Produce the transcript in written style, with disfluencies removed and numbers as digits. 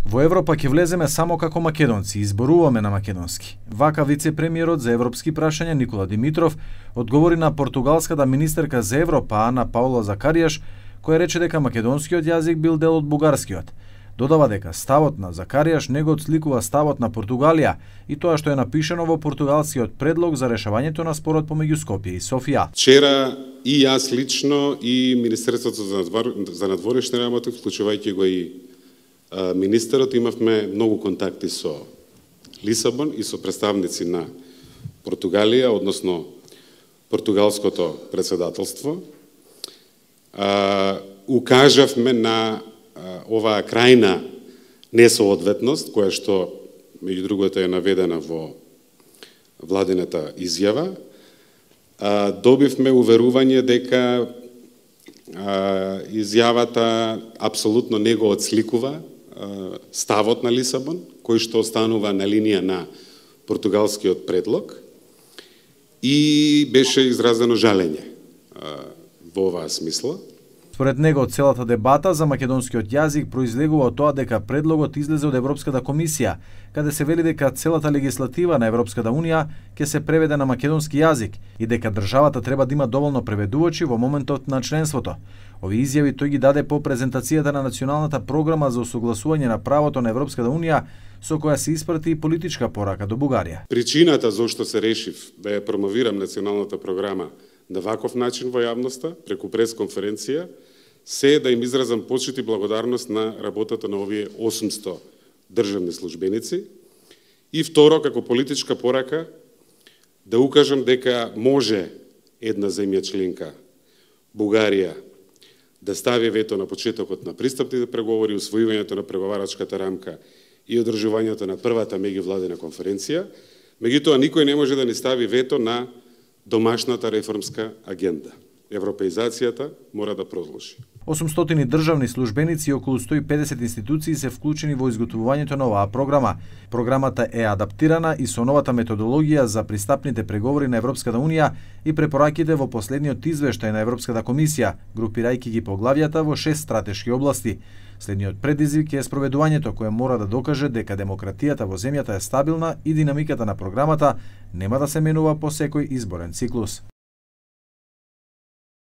Во Европа ќе влеземе само како македонци, изборуваме на македонски. Вака вице-премиерот за европски прашања Никола Димитров одговори на португалската министерка за Европа Ана Паула Закаријаш, која рече дека македонскиот јазик бил дел од бугарскиот. Додава дека ставот на Закаријаш не го отсликува ставот на Португалија и тоа што е напишано во португалскиот предлог за решавањето на спорот помеѓу Скопје и Софија. Вчера и јас лично и Министерството за надворешни работи, вклучувајќи го и министерот, имавме многу контакти со Лисабон и со представници на Португалија, односно португалското председателство. Укажавме на оваа крајна несоодветност, која што, меѓу другото, е наведена во владината изјава. Добивме уверување дека изјавата апсолутно не го отсликува ставот на Лисабон, кој што останува на линија на португалскиот предлог, и беше изразено жалење во оваа смисла. Според него, целата дебата за македонскиот јазик произлегува од тоа дека предлогот излезе од Европската комисија, каде се вели дека целата легислатива на Европската унија ќе се преведе на македонски јазик и дека државата треба да има доволно преведувачи во моментот на членството. Овие изјави тој ги даде по презентацијата на националната програма за усогласување на правото на Европската унија, со која се испрати и политичка порака до Бугарија. Причината зошто се решив да ја промовирам националната програма на ваков начин во јавноста, преку пресконференција, се да им изразам почит и благодарност на работата на овие 800 државни службеници, и второ, како политичка порака, да укажам дека може една земја членка, Бугарија, да стави вето на почетокот на пристапните преговори, усвојувањето на преговарачката рамка и одржувањето на првата меѓувладина конференција. Меѓутоа, никој не може да ни стави вето на домашната реформска агенда. Европеизацијата мора да продолжи. 800 државни службеници и околу 150 институции се вклучени во изготвувањето на оваа програма. Програмата е адаптирана и со новата методологија за пристапните преговори на Европската унија и препораките во последниот извештај на Европската комисија, групирајќи ги поглавјата во 6 стратешки области. Следниот предизвик е спроведувањето, кое мора да докаже дека демократијата во земјата е стабилна и динамиката на програмата нема да се менува по секој изборен циклус.